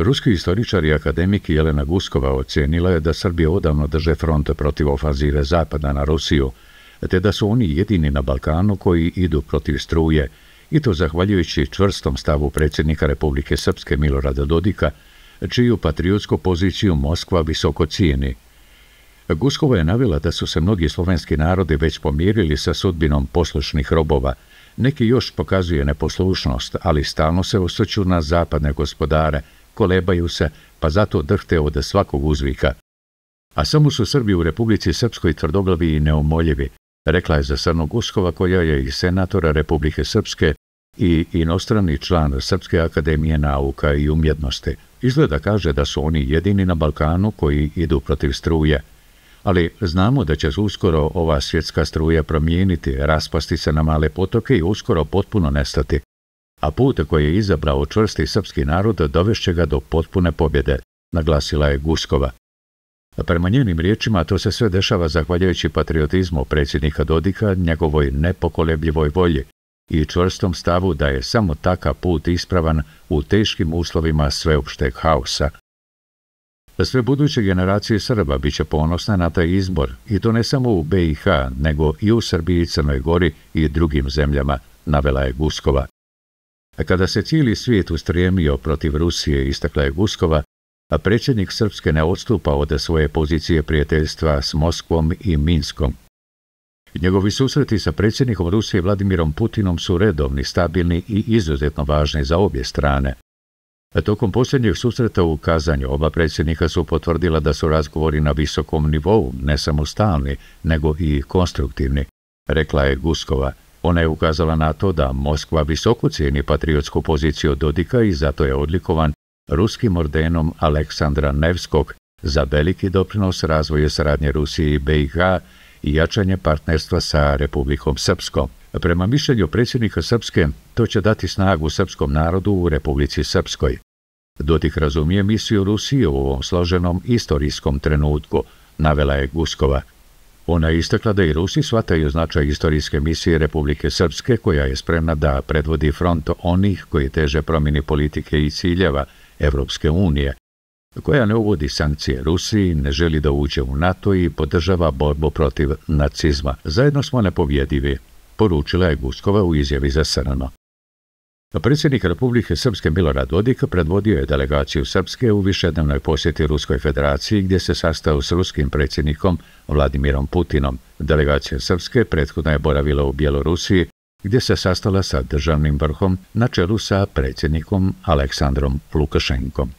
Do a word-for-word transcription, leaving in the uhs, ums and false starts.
Ruski istoričar i akademik Jelena Guskova ocenila je da Srbi odavno drže front protiv ofanzive Zapada na Rusiju, te da su oni jedini na Balkanu koji idu protiv struje, i to zahvaljujući čvrstom stavu predsjednika Republike Srpske Milorada Dodika, čiju patriotsku poziciju Moskva visoko cijeni. Guskova je navela da su se mnogi slovenski narodi već pomirili sa sudbinom poslušnih robova. Neki još pokazuje neposlušnost, ali stalno se osvrću na zapadne gospodare, kolebaju se, pa zato drhte od svakog uzvika. A samo su Srbi u Republici Srpskoj tvrdoglavi i neumoljivi, rekla je za Crnu Guskova, koja je i senatora Republike Srpske i inostrani član Srpske akademije nauka i umjetnosti. Izgleda kaže da su oni jedini na Balkanu koji idu protiv struje. Ali znamo da će uskoro ova svjetska struja promijeniti, raspasti se na male potoke i uskoro potpuno nestati. A put koji je izabrao čvrsti srpski narod dovešće ga do potpune pobjede, naglasila je Guskova. Prema njenim riječima to se sve dešava zahvaljujući patriotizmu predsjednika Dodika, njegovoj nepokolebljivoj volji i čvrstom stavu da je samo takav put ispravan u teškim uslovima sveopšteg haosa. Sve buduće generacije Srba bit će ponosne na taj izbor, i to ne samo u B i H, nego i u Srbiji, Crnoj Gori i drugim zemljama, navela je Guskova. Kada se cijeli svijet ustremio protiv Rusije, istakla je Guskova, a predsjednik Srpske ne odstupa od svoje pozicije prijateljstva s Moskvom i Minskom. Njegovi susreti sa predsjednikom Rusije Vladimirom Putinom su redovni, stabilni i izuzetno važni za obje strane. Tokom posljednjeg susreta u Kazanju oba predsjednika su potvrdila da su razgovori na visokom nivou, ne samo stalni, nego i konstruktivni, rekla je Guskova. Ona je ukazala na to da Moskva visoko cijeni patriotsku poziciju Dodika i zato je odlikovan ruskim ordenom Aleksandra Nevskog za veliki doprinos razvoju saradnje Rusije i B i H i jačanje partnerstva sa Republikom Srpskom. Prema mišljenju predsjednika Srpske, to će dati snagu srpskom narodu u Republici Srpskoj. Dodik razumije misiju Rusije u ovom složenom istorijskom trenutku, navela je Guskova. Ona je istakla da i Rusi shvataju značaj istorijske misije Republike Srpske, koja je spremna da predvodi front onih koji teže promjeni politike i ciljeva Evropske unije, koja ne uvodi sankcije Rusiji, ne želi da uđe u NATO i podržava borbu protiv nacizma. Zajedno smo nepobjedivi, poručila je Guskova u izjavi za Crno. Predsjednik Republike Srpske Milorad Dodik predvodio je delegaciju Srpske u višednevnoj posjeti Ruskoj federaciji, gdje se sastao s ruskim predsjednikom Vladimirom Putinom. Delegacija Srpske prethodno je boravila u Bjelorusiji, gdje se sastala sa državnim vrhom na čelu sa predsjednikom Aleksandrom Lukašenkom.